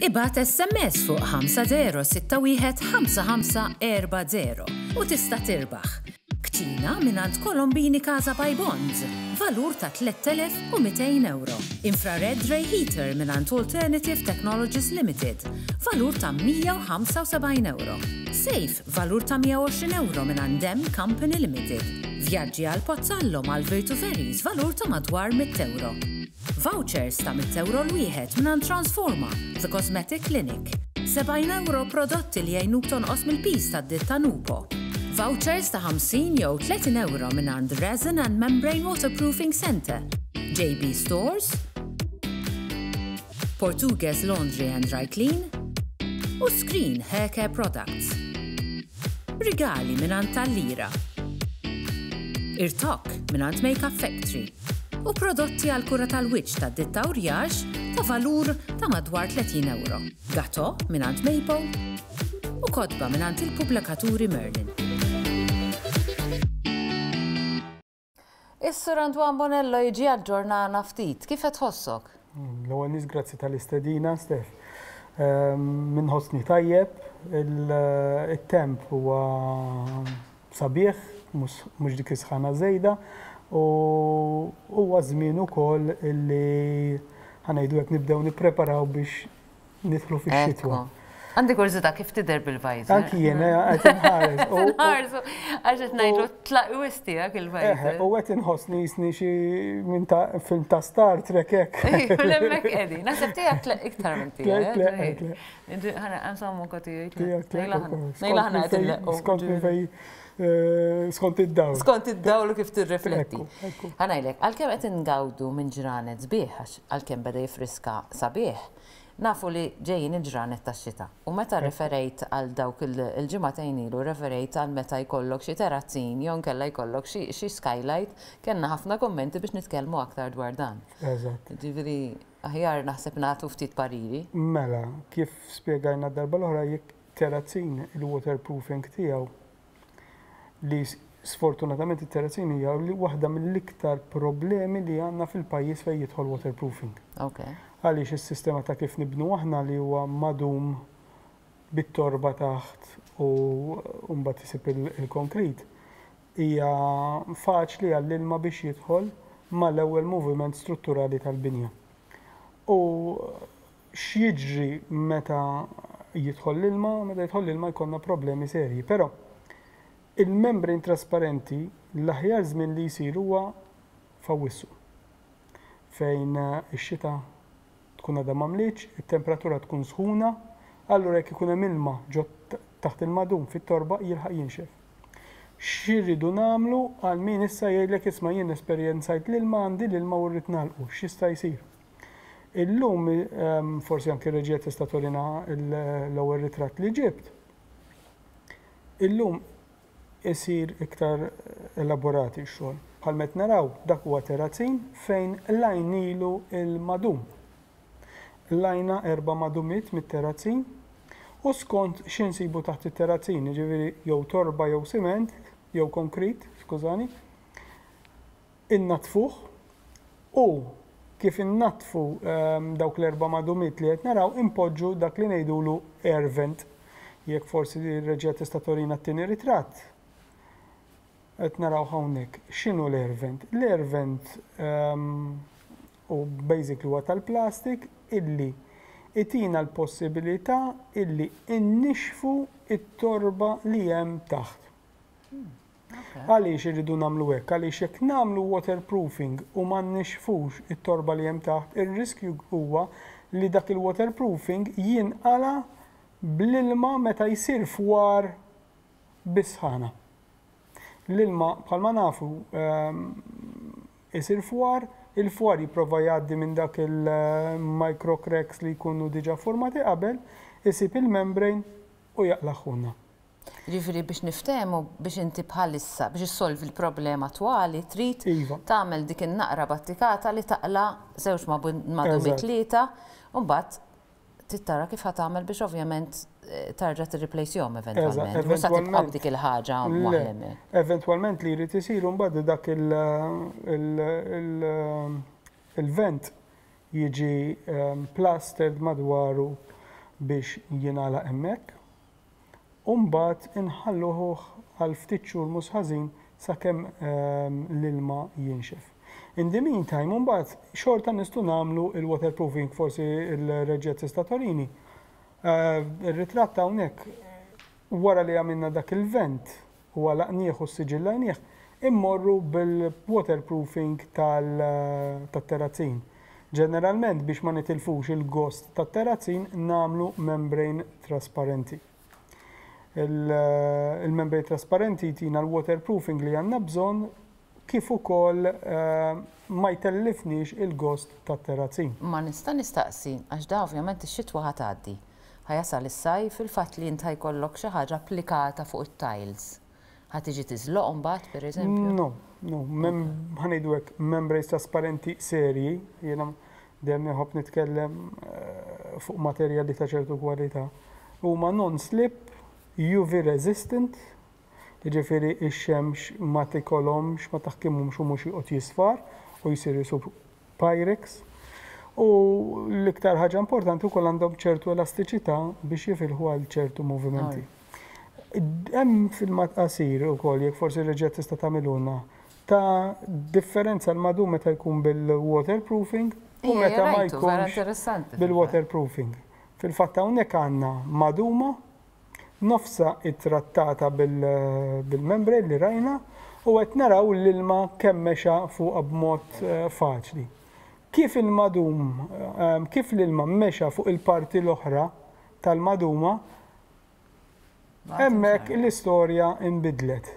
Ibgħat SMS fuq 50615540 u tista' tirbaħ. Kċina mingħand Colombini Casa by Bonds, valur ta' 3,200 ewro. Infrared Ray Heater mingħand Alternative Technologies Limited, valur ta' 175 ewro. Safe, valur ta' 120 ewro mingħand Dem Company Limited. Vjaġġi għal Pozzallo mal-Virtu Ferries, valur ta' madwar 100 ewro. Vouchers ta' mitt ewro l-wieħed mingħand Transforma, The Cosmetic Clinic. 70 ewro prodotti li jgħinuk tonqos mill-piż tad-ditta Nupo. Vouchers ta' 50 jew 30 ewro mingħand Resin and Membrane Waterproofing Centre, JB Stores, Portugues Laundry and Dry Clean u Screen Hair Care Products. Rigali mingħand Tal-Lira. Irtokk mingħand Makeup Factory. U prodotti għall-kura tal-wiċċ tad-ditta Uriage ta' valur ta' madwar 30 ewro. Gatò mingħand Maple u kotba mingħand il-pubblikaturi Merlin. Is-Sur Antoine Bonello jiġi jaġġornana ftit. Kif qed tħossok? L-ewwel nies grazzi tal-istedina, Steph. Minħossni tajjeb, it-temp huwa sabiħ, mhux dik is-sħana żejda, u huwa żmien ukoll illi ħa ngħidu hekk nibdew nippreparaw biex nidħlu fix-xitwa. Għandi kurżità kif tidher bil-visor. Anki jien eh, qed inħares. Inħarsu għax qed ngħidlu tlaq wis tiegħek il-visor. U qed inħossni jisni xi minn ta' film ta' Star Trek hekk. Hemmhekk qegħdin. Naħseb tiegħek tlaq iktar minn tiegħek. Insomma, koti Skont minn fej eh, skont id-dawl. Skont id-dawl kif tirrifletti. Ħanajlek, għalkemm qed ingawdu minn ġranet sbieħ, għax għalkemm beda jifriska sabiħ, nafu li ġejjin il-ġranet tax-xita. U meta referejt għal dawk il-ġimagħtejn ilu, referejt għal meta jkollok xi terazzin jew nkella jkollok xi skylight, kellna ħafna kummenti biex nitkellmu aktar dwar dan. Eżatt. Ġifieri, Aħjar naħseb nagħtu ftit pariri. Mela, kif spjegajna d-darba l-oħra, jekk terrazzin il-waterproofing tiegħu li sfortunatament it-terrazzin hija waħda mill-iktar problemi li għandna fil-pajjiż fejn jidħol waterproofing. Għaliex is-sistema ta' kif nibnu aħna li huwa madum bit-torba taħt u mbagħad isib il-konkrit, Hija faċli għall-ilma biex jidħol mal-ewwel moviment strutturali tal-binja. U x'jiġri meta jidħol l-ilma? Meta jidħol l-ilma jkollna problemi serji. Però il-membrane trasparenti l-aħjar żmien li jsir huwa f'Awwissu fejn ix-xita tkun għadha ma mlietx, it-temperatura tkun sħuna, allura jekk ikun hemm ilma ġo taħt il-madum fit-torba jilħaq jinxef. X'irridu nagħmlu għal min issa jgħidlek isma' jien esperjenzajt l-ilma għandi l-ilma u rrid nagħlqu, x'jista' jsir? Illum forsi anki r-reġija tista' turina l-ewwel ritratt li ġibt. Illum isir iktar elaborat ix-xogħol. Bħalma qed naraw, dak huwa terrazzin fejn qlajnilu l-madum. Qlajna erba' madumiet mit-terrazzin u skont xi nsibu taħt it-terrazzin, jiġifieri jew torba jew siment, jew konkrit, skużani, innaddfuh u kif innaddfu dawk l-erba' madumiet li qed naraw inpoġġu dak li ngħidulu air vent. Jekk forsi r-reġija tista' turina t-tieni ritratt. Qed naraw hawnhekk. X'inhu l-air vent? L-air vent u basically huwa tal-plastik illi itina l-possibilità illi innixxfu t-torba li hemm taħt. Għaliex irridu nagħmlu hekk? Għaliex jekk nagħmlu waterproofing u ma nnixxfux it-torba li hemm taħt, ir-riskju huwa li dak il-waterproofing jinqala' bl-ilma meta jsir fwar bis-sħana. L-ilma bħalma nafu isir fwar, il-fwar jipprova jgħaddi minn dak il-micro cracks li jkunu diġà formati qabel, isib il-membrane u jaqlagħhulna. Jiġifieri biex niftehmu, biex inti bħalissa, biex issolvi l-problema attwali trid tagħmel dik in-naqra battikata li taqla' żewġ madumi tlieta u mbagħad trid tara kif ħa tagħmel biex ovvjament tarġa' tirriplejsihom eventwalment. Mhux sa tibqa' b'dik il-ħaġa waħla hemmhekk. Eventwalment li jrid isir imbagħad dak il-vent jiġi plastered madwaru. biex jingħalaq hemmhekk u mbagħad inħalluh għal ftit xhur mhux ħażin sakemm l-ilma jinxef. In the meantime, mbagħad xorta nistgħu nagħmlu il-waterproofing, forsi l-reġija tista' torini. Ir-ritratt hawnhekk wara li għamilna dak il-vent u għalaqnieh u ssiġillajnieh, immorru bil-waterproofing tat-terrazzin. Ġeneralment biex ma nitilfux il-gost tat-terrazzin nagħmlu membrane trasparenti. Il-membrane trasparenti jtina l-waterproofing li għandna bżonn kif ukoll ma jtellifniex il-gost tat-terrazzin. Ma nista' nistaqsi, għax da ovvjament ix-xitwa ħa tgħaddi, ħa jasal is-sajf, il-fatt li int ħa jkollok xi ħaġa applikata fuq it-tiles, ħa tiġi tiżloq imbagħad pereżempju? No, no, ħa ngħidu hekk, membranes trasparenti serji, jiena dejjem inħobb nitkellem fuq materjali ta' ċertu kwalità, huma non-slip, UV resistant, Jiġifieri x-xemx ma tikolhomx, ma taħkimhomx u mhux joqgħod jisfar u jsir isu Pyrex. U l-iktar ħaġa importanti wkoll għandhom ċertu elastiċità biex jifilħu għal ċertu movimenti. Hemm filmat qasir ukoll jekk forsi r-reġija tista' tagħmilulna ta' differenza l-madum meta jkun bil-waterproofing u meta ma jkunx bil-waterproofing. Fil-fatt hawnhekk għandna maduma Nofsha ittrattata bil-membrane li rajna u qed naraw l-ilma kemm mexa fuqha b'mod faċli. Kif il-madum, kif l-ilma mexa fuq il-parti l-oħra tal-maduma, hemmhekk l-istorja nbidlet.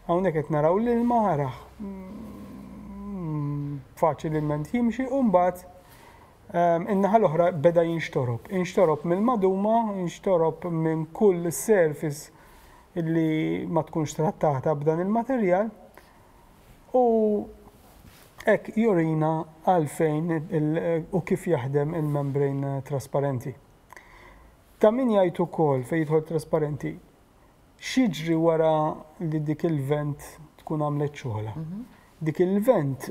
Hawnhekk qed naraw l-ilma arah faċilment jimxi u mbagħad In-naħa l-oħra beda jinxtorob. Inxtorob mill-maduma, inxtorob minn kull surface li ma tkunx trattata b'dan il-materjal u hekk jurina għalfejn u kif jaħdem il-membrane trasparenti. Ta' min jgħid ukoll fejn jidħol trasparenti, x'jiġri wara li dik il-vent tkun għamlet xogħolha. Dik il-vent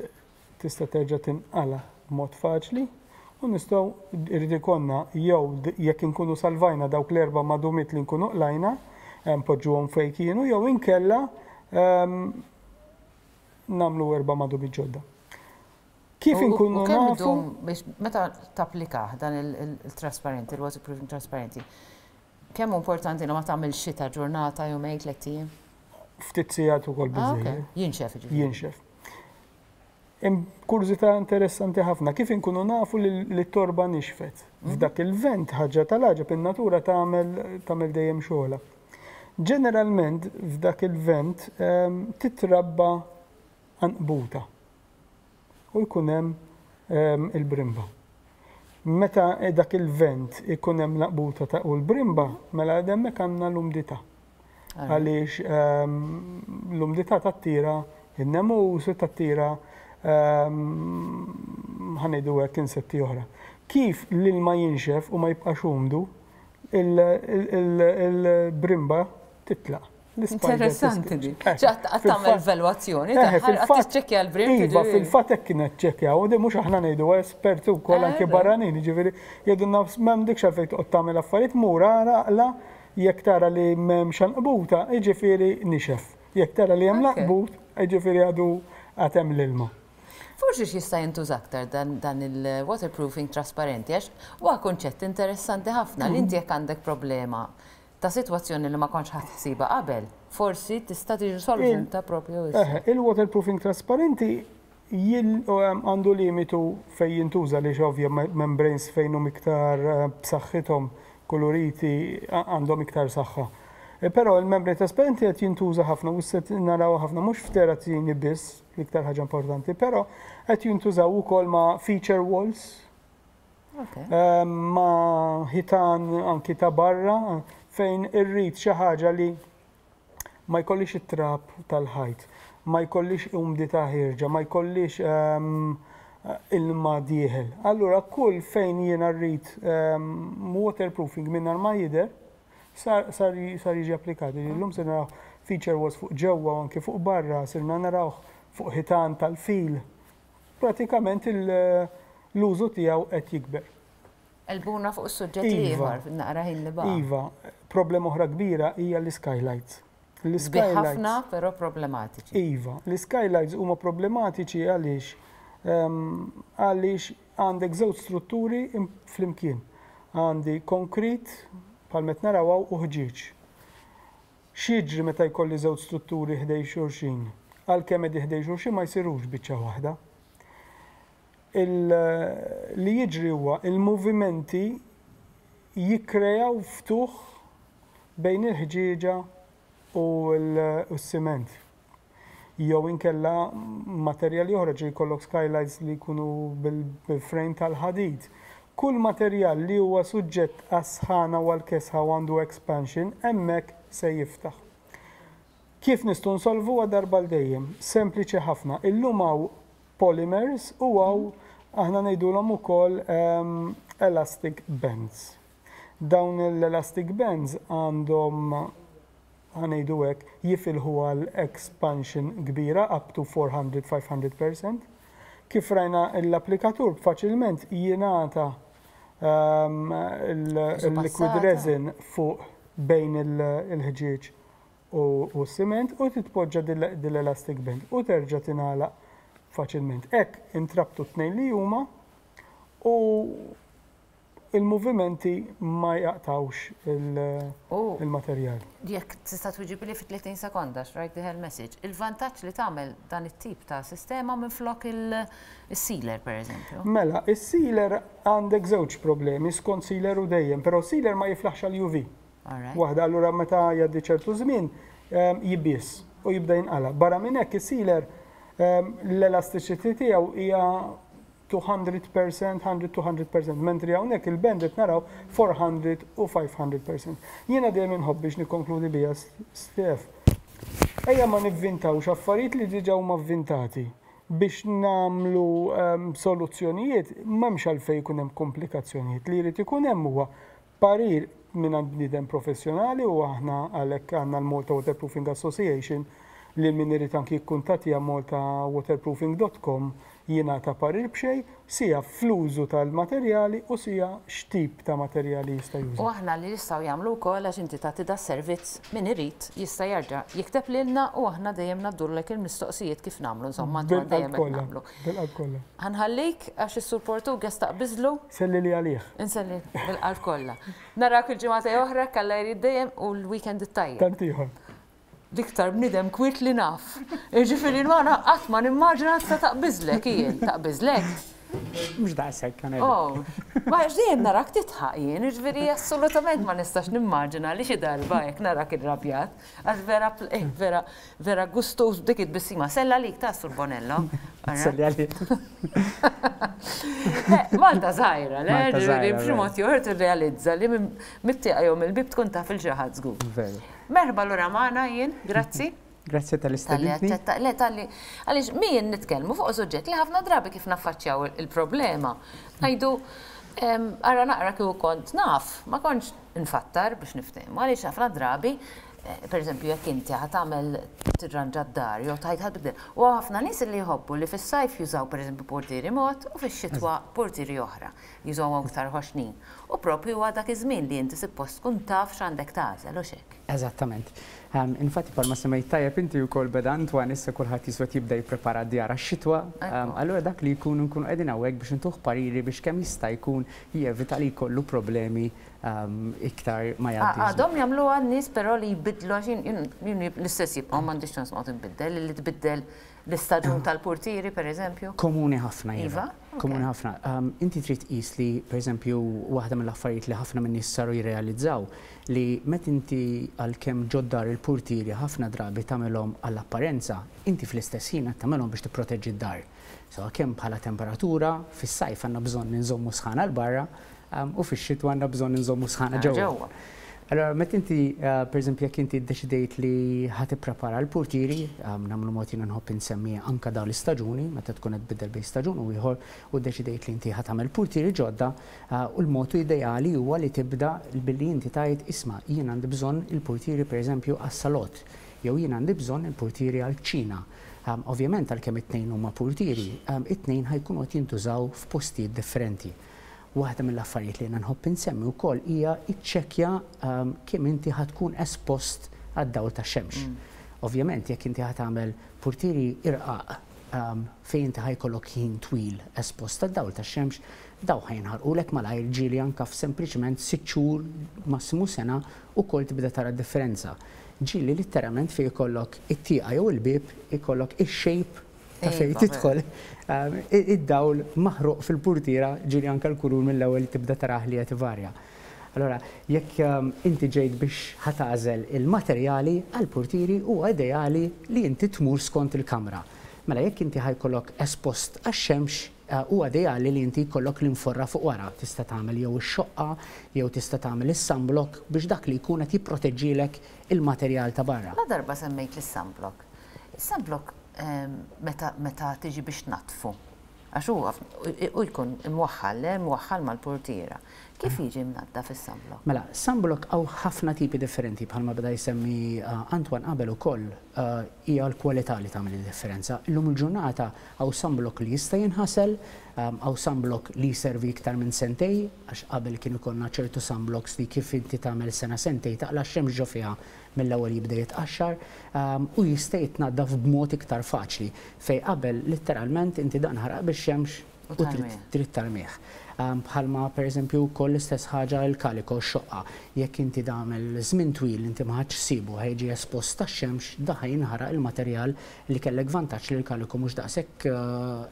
tista' terġa' tinqala' b'mod faċli u nistgħu jrid ikollna jew jekk inkunu salvajna dawk l-erba' madumiet li nkunu qlajna, npoġġuhom fejn kienu jew inkella nagħmlu erba' madumiet ġodda. Kif inkunu nafu. Biex meta tapplikah dan il-trasparenti, il-waterproofing trasparenti, kemm hu importanti li ma tagħmilx xita ġurnata, jumejn, tlett ijiem? Ftit sigħat ukoll biżżejjed. Jinxef jiġifieri. Jinxef. Hemm kurżità interessanti ħafna, kif inkunu nafu li t-torba nixfet? F'dak il-vent ħaġa tal-għaġeb in-natura tagħmel tagħmel dejjem xogħolha. Ġeneralment f'dak il-vent titrabba għanqbuta u jkun hemm il-brimba. Meta dak il-vent ikun hemm l-għanqbuta ta' u l-brimba, mela hemmhekk għandna l-umdità. Għaliex l-umdità tattira n-nemus u tattira ħa ngħidu hekk insetti oħra. Kif l-ilma jinxef u ma jibqax umdu, il-brimba titlaq. Interessanti di. Ċatt qatt tagħmel evalwazzjoni tagħha, qatt tiċċekkja l-brim. Iva, fil-fatt hekk kienet ċekkjaw, u di mhux aħna ngħidu esperti wkoll anke barranin, jiġifieri jgħidulna m'għandekx għalfejn toqgħod tagħmel affarijiet, mur ara aqla' Jekk tara li m'hemmx għanqbuta, jiġifieri nixef. Jekk tara li hemm l-għanqbut, jiġifieri għadu għad hemm l-ilma. Forsi x'jista' jintuża aktar dan il-waterproofing trasparenti għax huwa kunċett interessanti ħafna li inti jekk għandek problema ta' sitwazzjoni li ma kontx ħadt ħsiebha qabel, forsi tista' tiġi solvuta proprju issa. Il-waterproofing trasparenti Għandu limitu fejn jintuża għaliex ovvja membranes fejn hum iktar b'saħħithom kuluriti għandhom iktar saħħa. Però il-membrane trasparenti qed jintuża ħafna u issa naraw ħafna mhux f'terazzini biss, l-iktar ħaġa importanti, però qed jintużaw ukoll ma' feature walls, ma' ħitan anki ta' barra fejn irrid xi ħaġa li ma jkollix it-trab tal-ħajt, ma jkollix umdità ħierġa, ma jkollix ilma dieħel. Allura kull fejn jiena rrid waterproofing mingħajr ma jidher, sar jiġi applikat. Illum se naraw feature walls fuq ġewwa u anki fuq barra, sirna narawh fuq ħitan tal-fil. Pratikament l-użu tiegħu qed jikber. Qelbuna fuq is-suġġett l-ieħor fin-naqra ħin li baqa'. Iva, problema oħra kbira hija l-iskylights. Sbieħ ħafna però problematiċi. Iva, l-iskylights huma problematiċi għaliex għaliex għandek żewġ strutturi flimkien. Għandi konkrit bħal qed naraw hawn u ħġieġ. X'jiġri meta jkolli żewġ strutturi ħdejn xulxin? Għalkemm qegħdin ħdejn xulxin ma jsirux biċċa waħda. Li jiġri huwa il-movimenti jikkrejaw ftuħ bejn il-ħġieġa u s-siment. Jew inkella materjali oħra, ġieli jkollok skylights li jkunu bil-frame tal-ħadid. Kull materjal li huwa suġġett għas-sħana u għall-kesħa u għandu expansion, hemmhekk se jiftaħ. Kif nistgħu nsolvuha darba għal dejjem? Sempliċi ħafna. Illum hawn polymers u hawn aħna ngħidulhom ukoll elastic bands. Dawn l-elastic bands għandhom ħa ngħidu hekk, jifilħu għal expansion kbira up to 400-500%. Kif rajna l-applikatur faċilment jingħata il-liquid resin fuq bejn il-ħġieġ u s-siment u titpoġġa dil-elastic band u terġa' tingħalaq faċilment. Hekk intrabtu t-tnejn li huma u il-movimenti ma jaqtawx il-materjal. Jekk tista' twiġibli fi 30 sekonda, x'rajt dieħel message. Il-vantaġġ li tagħmel dan it-tip ta' sistema minflok il-sealer pereżempju. Mela, is-sealer għandek żewġ problemi skont sealer u dejjem, però sealer ma jiflaħx għal UV. Waħda allura meta jgħaddi ċertu żmien jibbies u jibda jinqala. Barra minn hekk is-sealer l-elasticity tiegħu hija 200%, 100-200%, mentri hawnhekk il-band qed naraw 400 u 500%. Jiena dejjem inħobb biex nikkonkludi biha Stef. Ejja ma nivvintawx affarijiet li diġà huma vvintati biex nagħmlu soluzzjonijiet m'hemmx għalfejn ikun hemm komplikazzjonijiet. Li jrid ikun hemm huwa parir mingħand bniedem professjonali u aħna għalhekk għandna l-Malta Waterproofing Association li min irid anki jikkuntattja maltawaterproofing.com jingħata parir b'xejn, sija fl-użu tal-materjali u sija x'tip ta' materjali jista' juża. U aħna li jistgħu jagħmlu wkoll għax inti tagħti da servizz min irid jista' jerġa' jikteb lilna u aħna dejjem ngħaddulek il-mistoqsijiet kif nagħmlu insomma dejjem qed nagħmlu. Bil-qalb kollha. Ħa nħallik għax is-Sur Portugues taqbiżlu. Sellili għalih. Inselli bil-qalb kollha. Narak il-ġimgħa oħra kalla jrid dejjem u l-weekend it-tajjeb. Tant ieħor. L-iktar bniedem kwiet li naf. Jiġifieri Luana qatt ma nimmaġina tista' taqbiżlek jien, taqbiżlek. Mhux daqshekk għan Oh, ma għax dejjem narak titħaq jien, jiġifieri assolutament ma nistax nimmaġina li xi darba hekk narak irrabjat, għax vera eh, vera vera gustuż b'dik it-tbissima. Sella għalik ta' Sur Bonello. Selli għalik. Eh, Malta żgħira, le? Ġifieri b'xi mod jew tirrealizza li mit-tieqa jew mill-bib tkun taf il xi ħadd żgur. Veru. Merħba lura magħna jien, grazzi. Grazzi talli stedintni. Le talli għaliex min nitkellmu fuq suġġett li ħafna drabi kif naffaċċjaw il-problema. Ngħidu ara naqra kieku kont naf, ma kontx nfattar biex niftehmu għaliex ħafna drabi eh, per eżempju jekk inti ħa tagħmel tirranġa d-dar jew tgħid ħa tbiddel. U ħafna nies li jħobbu li fis-sajf jużaw pereżempju portieri mod u fix-xitwa portieri oħra, jużawhom aktar ħoxnin. U propju huwa dak iż-żmien li inti suppost tkun taf x'għandek tagħżel u x'hekk. Eżattament. Infatti bħalma semmejt tajjeb inti wkoll beda Antoine issa kulħadd jiswa jibda jipprepara d-djar għax-xitwa. Allura dak li jkun nkunu qegħdin hawnhekk biex intuh pariri biex kemm jista' jkun jevita li jkollu problemi iktar ma jgħaddi. Għadhom jagħmluha n-nies però li jbiddlu għax jien l-istess jibqgħu m'għandix ċans noqgħod inbiddel li tbiddel l-istaġun tal-portieri pereżempju. Komuni ħafna iva. Komuni ħafna. Inti trid tqis li pereżempju waħda mill-affarijiet li ħafna min-nies saru jirrealizzaw li meta inti għalkemm ġod-dar il-purtieri ħafna drabi tagħmilhom għall-apparenza, inti fl-istess ħin qed tagħmilhom biex tipproteġġi d-dar. Sewa kemm bħala temperatura, fis-sajf għandna bżonn inżommu sħana 'l barra u fix-xitwa għandna bżonn inżommu sħana ġewwa. Allora, meta inti, pereżempju, jekk inti ddeċidejt li ħa tipprepara l-purtieri, nagħmlu mod jiena nħobb insemmi anke dawn l-istaġuni, meta tkun qed tbiddel bejn staġun u ieħor u ddeċidejt li inti ħa tagħmel purtieri ġodda, u l-mod ideali huwa li tibda billi inti tgħid isma' jien għandi bżonn il-purtieri pereżempju għas-salott, jew jien għandi bżonn il-purtieri għall-kċina. Ovvjament għalkemm it-tnejn huma purtieri, it-tnejn ħa jkunu qed jintużaw f'postijiet differenti. Waħda mill-affarijiet li jiena nħobb insemmi wkoll hija iċċekkja kemm inti ħa tkun espost għad-dawl tax-xemx. Ovvjament jekk inti ħa tagħmel purtieri irqaq fejn inti ħa jkollok ħin twil espost għad-dawl tax-xemx, dawn ħa jinħarqulek malajr, ġieli anke f'sempliċement sitt xhur, massimu sena, ukoll tibda tara d-differenza. Ġieli litteralment fejn ikollok it-tieqa jew il-bieb ikollok ix-shape ta' fejn tidħol id-dawl maħruq fil-purtiera, ġieli anke l-kulur mill-ewwel tibda tarah li qed ivarja. Allura, jekk inti ġejt biex ħa tagħżel il-materjali għall-purtieri, huwa ideali li inti tmur skont il-kamra. Mela jekk inti ħa jkollok espost għax-xemx, huwa ideali li inti jkollok l-inforra fuq wara. Tista' tagħmel jew ix-xoqqa jew tista' tagħmel is-sunblock biex dak li jkun qed jipproteġġilek il-materjal ta' barra. La darba semmejt lis-sunblock. Is-sunblock meta meta tiġi biex tnaddfu, għax huwa u jkun imwaħħal, le, imwaħħal mal-purtiera. Kif jiġi mnaddaf is-sunblock? Mela, sunblock hawn ħafna tipi differenti bħalma beda jsemmi Antoine qabel ukoll, hija l-kwalità li tagħmel id-differenza. Illum il-ġurnata hawn sunblock li jista' jinħasel, hawn sunblock li jservi iktar minn sentej, għax qabel kien ikollna ċertu sunblocks li kif inti tagħmel sena sentej taqla' x-xemx ġo fiha mill-ewwel jibda jitqaxxar u jista' jitnaddaf b'mod iktar faċli fejn qabel litteralment inti dan ħaraq bix-xemx u trid tarmih. Bħalma pereżempju wkoll l-istess ħaġa l-kaliko, x-xoqqa. Jekk inti tagħmel żmien twil inti ma ħadtx ħsiebu ħa jiġi espost għax-xemx, da ħa jinħaraq il-materjal li kellek vantaġġ li l-kaliko mhux daqshekk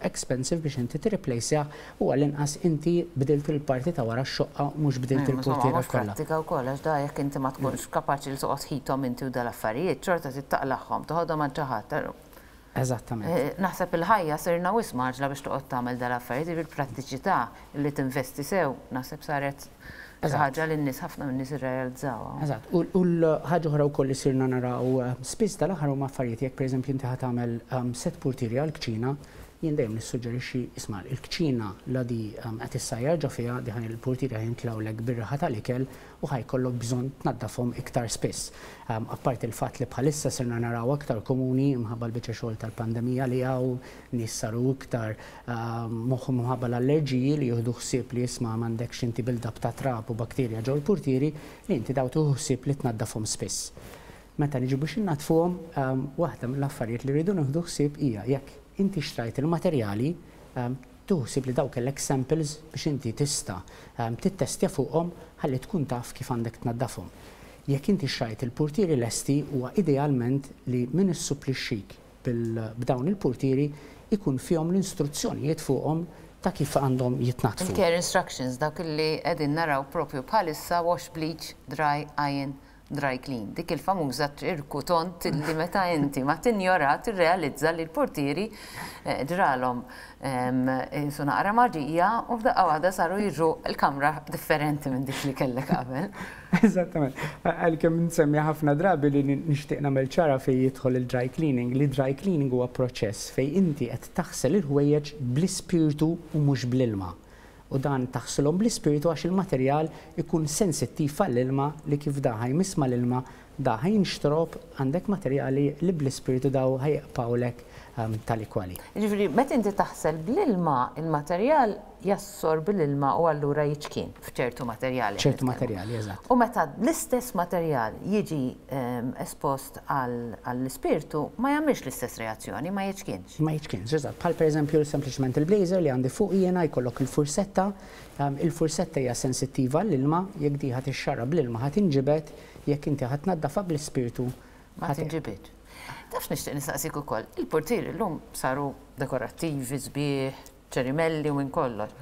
expensive biex inti tirriplejsjah u għall-inqas inti bdilt il-parti ta' wara x-xoqqa u mhux bdilt il-purtiera kollha. Mhux prattika wkoll għax da jekk inti ma tkunx kapaċi li toqgħod tħithom inti u dal-affarijiet, xorta trid taqlagħhom, toħodhom għand xi ħadd. Eżattament. Naħseb il-ħajja sirna wisq mgħaġġla biex toqgħod tagħmel dal-affarijiet, jiġifieri l-prattiċità li tinvesti sew naħseb saret xi ħaġa li n-nies ħafna min-nies irrealizzawha. Eżatt. U l-ħaġa oħra wkoll li sirna naraw spiss dal-aħħar huma affarijiet jekk pereżempju inti ħa tagħmel sett purtieri għall-kċina, jien dejjem nissuġġerixxi isma' il-kċina la di qed issajjar ġo fiha, di ħa il-purtieri ħa jintlawlek bir-riħa tal-ikel u ħa jkollok bżonn tnaddafhom iktar spiss. Apparti l-fatt li bħalissa sirna naraw aktar komuni imħabba l-biċċa xogħol tal-pandemija li hawn, nies saru iktar moħħhom imħabba l-allerġiji li jieħdu ħsieb li isma' m'għandekx inti build-up ta' trab u bakterja ġol-purtieri li inti daw tieħu ħsieb li tnaddafhom spiss. Meta niġu biex innaddfuhom, waħda mill-affarijiet li rridu nieħdu ħsieb hija jekk inti xtrajt il-materjali, tieħu ħsieb li daw kellek samples biex inti tista' tittestja fuqhom ħalli tkun taf kif għandek tnaddafhom. Jekk inti xtrajt il-purtieri lesti, huwa idealment li min issupplixxik b'dawn il-purtieri ikun fihom l-instruzzjonijiet fuqhom ta' kif għandhom jitnaddfu. Il-care instructions, dawk li qegħdin naraw propju bħalissa, wash, bleach, dry, iron, dry clean. Dik il-famuża ċirku tond li meta inti ma tinjora tirrealizza li l-purtieri ġralhom su naqra maġija u f'daqqa waħda saru jiġu l-kamra differenti minn dik li kellek qabel. Eżattament. Għalkemm nsemmi ħafna drabi li nixtieq nagħmel ċara fejn jidħol il-dry cleaning, li dry cleaning huwa proċess fejn inti qed taħsel il-ħwejjeġ bl-ispirtu u mhux bl-ilma. U dan taħsilhom bl-ispirtu għax il-materjal ikun sensittiv għall-ilma li kif da ħa jmiss mal-ilma da ħa jinxtorob, għandek materjali li bl-ispirtu daw ħa jibqgħulek tali kwali. Jiġifieri meta inti taħsel bl-ilma, il-materjal jassorbi l-ilma u allura jiċkien f'ċertu materjali. ċertu materjali, eżatt. U meta l-istess materjal jiġi espost għall-ispirtu ma jagħmilx l-istess reazzjoni, ma jiċkienx. Ma jiċkienx, eżatt. Bħal pereżempju sempliċement il-blazer li għandi fuq jiena jkollok il-fursetta, il-fursetta hija sensittiva għall-ilma, jekk di ħa tixxarra bl-ilma ħa tinġibed, jekk inti ħa tnaddafa bl-ispirtu ma tinġibidx. Taf nixtieq nistaqsik ukoll, il-purtieri llum saru dekorattivi, sbieħ, ċerimelli u minn kollox.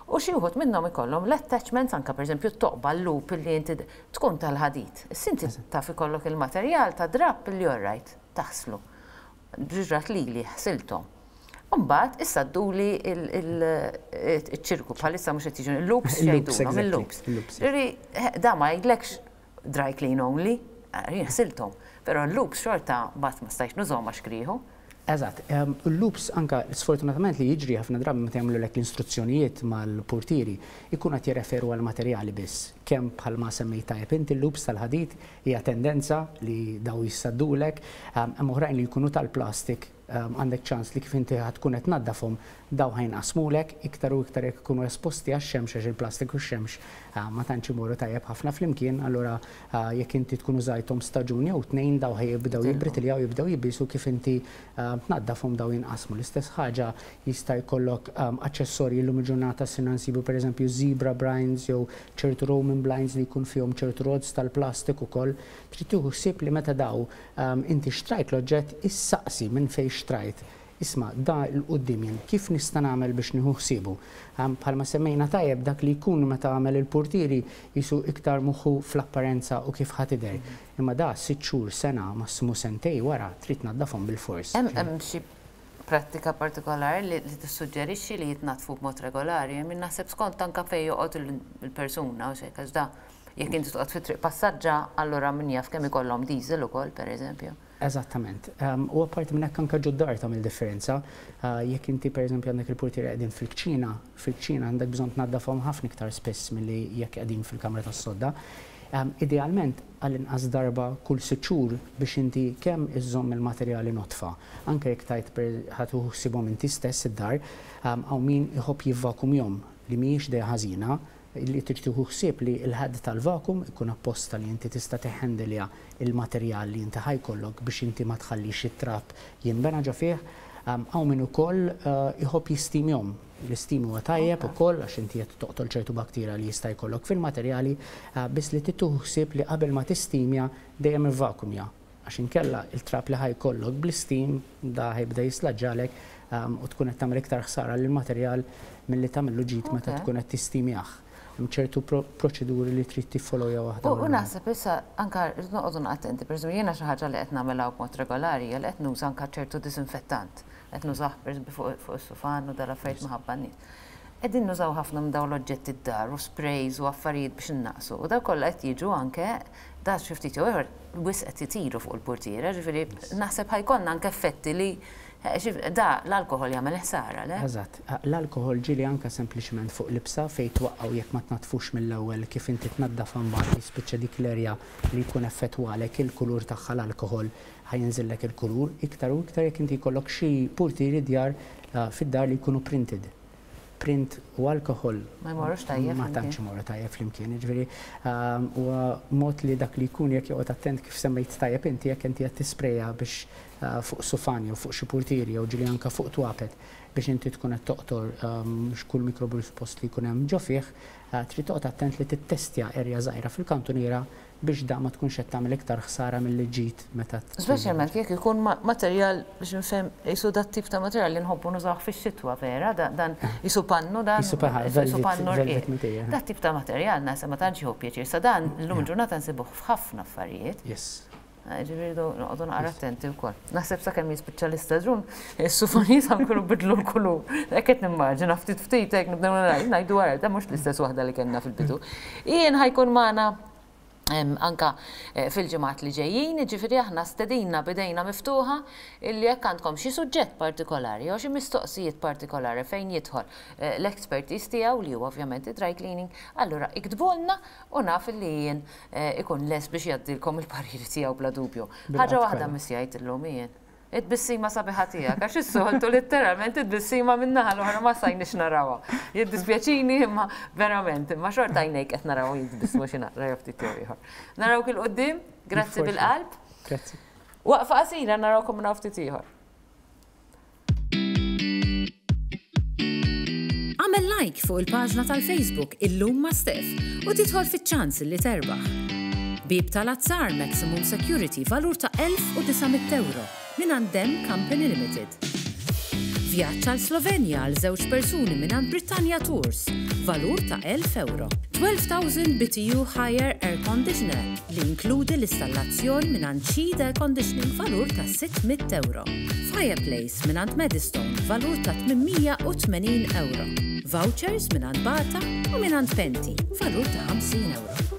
U xi wħud minnhom ikollhom l-attachments anke pereżempju t-toqba l-loop li inti tkun tal-ħadid. Issa inti taf ikollok il-materjal ta' drapp li orrajt taħslu. Ġrat lili ħsilthom. Imbagħad issa dduli il-ċirku bħalissa mhux qed jiġu il-loops jgħidulhom il-loops. Ġifieri da ma jgħidlekx dry clean only, jien ħsilthom. Però l-loops xorta mbagħad ma stajtx nużhom għax krieħu. Eżatt, il-loops anka sfortunatament li jiġri ħafna drabi meta jagħmlulek l-instruzzjonijiet mal-purtieri ikun qed jirreferu għal materjali biss. Kemm bħalma semmejt tajjeb inti l-loops tal-ħadid hija tendenza li daw jissaddulek, hemm oħrajn li jkunu tal-plastik. Għandek ċans li kif inti ħa tkun qed tnaddafhom dawn ħa jinqasmulek iktar u iktar jekk ikunu esposti għax-xemx għax il-plastik u x-xemx ma tantx imorru tajjeb ħafna flimkien, allura jekk inti tkun użajthom staġun jew tnejn dawn ħa jibdew jibbritiljaw, jibdew jibiesu kif inti tnaddafhom dawn jinqasmu. L-istess ħaġa jista' jkollok aċċessorji llum il-ġurnata sirna nsibu pereżempju zebra blinds jew ċertu Roman blinds li jkun fihom ċertu rods tal-plastik ukoll. Trid tieħu ħsieb li meta dawn Inti xtrajt l-oġġett, issaqsi minn fejn xtrajt. Isma', da 'l quddiem jien kif nista' nagħmel biex nieħu ħsiebu? Bħalma semmejna tajjeb, dak li jkun meta għamel il-purtieri qisu iktar moħħu fl-apparenza u kif ħa tidher. Imma da sitt xhur, sena, massimu sentej wara trid tnaddafhom bilfors. Hemm xi prattika partikolari li tissuġġerixxi li jitnaddfu b'mod regolari? I mean naħseb skont anke fejn joqgħod il-persuna u x'hekk għax da Jekk inti toqgħod fi triq passaġġa, allura min jaf kemm ikollhom diesel ukoll, pereżempju. Eżattament. U apparti minn hekk anke ġod-dar tagħmel differenza. Jekk inti pereżempju għandek il-purtieri qegħdin fil-kċina, fil-kċina għandek bżonn tnaddafhom ħafna iktar spiss milli jekk qegħdin fil-kamra tas-sodda. Idealment għall-inqas darba kull sitt xhur biex inti kemm iżżomm il-materjali nodfa, anke jekk tgħid ħa tieħu ħsiebhom inti stess id-dar, hawn min iħobb jivvakumjhom li mhijiex idea ħażina, Li trid tieħu ħsieb li l-ħadd tal-vakum ikun apposta li inti tista' tehhandilja l-materjal li inti ħa jkollok biex inti ma tħallix it-trab jinbena ġo fih. Hawn min ukoll iħobb jistimjhom. L-istim huwa tajjeb ukoll għax inti qed toqtol ċertu bakterja li jista' jkollok fil-materjali, biss li trid tieħu ħsieb li qabel ma tistimja dejjem ivvakumja. Għax inkella il-trab li ħa jkollok bl-istim da ħa jibda jislaġġalek u tkun qed tagħmel iktar ħsara lill-materjal milli tagħmillu ġid meta tkun qed tistimjah. Hemm ċertu proċeduri li trid tiffollowja waħda wara. U naħseb issa anke rridu noqogħdu attenti, pereżempju jiena xi ħaġa li qed nagħmilha b'mod regolari hija li qed nuża anke ċertu disinfettant. Qed nużah pereżempju fuq is-sufan u dal-affarijiet minħabba n-nies. Qegħdin nużaw ħafna minn dawn l-oġġetti d-dar u sprays u affarijiet biex innaqqsu u dawn kollha qed jiġu anke da xi ftit jew ieħor wisq qed itiru fuq il-purtiera, ġifieri naħseb ħa jkollna anke effetti li da l-alkoħol jagħmel ħsara, le? Eżatt. L-alkoħol ġieli anke sempliċement fuq libsa fejn twaqqgħu jekk ma tnaddfux mill-ewwel kif inti tnaddafha mbagħad jispiċċa dik l-area li jkun effettwalek il-kulur tagħha l-alkoħol ħa jinżillek il-kulur iktar u iktar jekk inti jkollok xi purtieri djar fid-dar li jkunu printed. Print u alkoħol Ma jmorrux tajjeb ma tantx imorru tajjeb flimkien. Jiġifieri huwa mod li dak li jkun jekk joqgħod attent kif semmejt tajjeb inti jekk inti qed tisprejja biex fuq sufan jew fuq xi purtieri jew ġieli anke fuq twapet biex inti tkun qed toqtor kull mikrobu li suppost li jkun hemm ġo fih, trid toqgħod attent li tittestja area żgħira fil-kantuniera biex da ma tkunx qed tagħmel iktar ħsara milli ġid meta tkun. Speċjalment jekk ikun materjal biex nifhem qisu dat-tip ta' materjal li nħobbu nużawh fix-xitwa vera, dan qisu pannu dan. Qisu pannu rqiq. Dat-tip ta' materjal naħseb ma tantx jieħu pjaċir. Sa dan illum il-ġurnata nsibuh f'ħafna affarijiet. Yes. Ġifieri rridu noqogħdu naqra attenti wkoll. Naħseb sakemm jispiċċa l-istaġun, is-sufonijiet ħa nkunu bidlu l-kulur. Hekk qed nimmaġina ftit ftit hekk nibdew ngħidu wara, da mhux l-istess waħda li kellna fil-bidu. Ian ħa jkun magħna anka fil-ġimgħat li ġejjin, jiġifieri aħna stedinna b'idejna miftuħa illi jekk għandkom xi suġġett partikolari jew xi mistoqsijiet partikolari fejn jidħol l-expertise tiegħu li huwa ovvjament id-dry cleaning, allura iktbulna u naf illi Ian ikun lest biex jgħaddilkom il-pariri tiegħu bla dubju. Ħaġa waħda missjajt illum Ian. It-tbissima sabiħa tiegħek, għax is-soltu litteralment it-tbissima min-naħa l-oħra ma stajniex narawha. Jiddispjaċini imma verament, imma xorta għajnejk qed narawhom jitbissmu xi naqra jew ftit jew ieħor. Narawk 'il quddiem, grazzi bil-qalb. Grazzi. Waqfa qasira narawkom minn hawn ftit ieħor. Agħmel like fuq il-paġna tal-Facebook Illum ma' Steph u tidħol fiċ-ċans li terbaħ. Bieb tal-azzar Maximum Security valur ta' 1,900 ewro mingħand Dem Company Limited. Vjaġġ għal Slovenja għal żewġ persuni mingħand Britannia Tours valur ta' 1,000 ewro. 12,000 BTU Haier Air Conditioner li jinkludi l-istallazzjon mingħand Sheed Air Conditioning valur ta' 600 ewro. Fireplace mingħand Medistone valur ta' 880 ewro. Vouchers mingħand Bata u mingħand Penti valur ta' 50 ewro.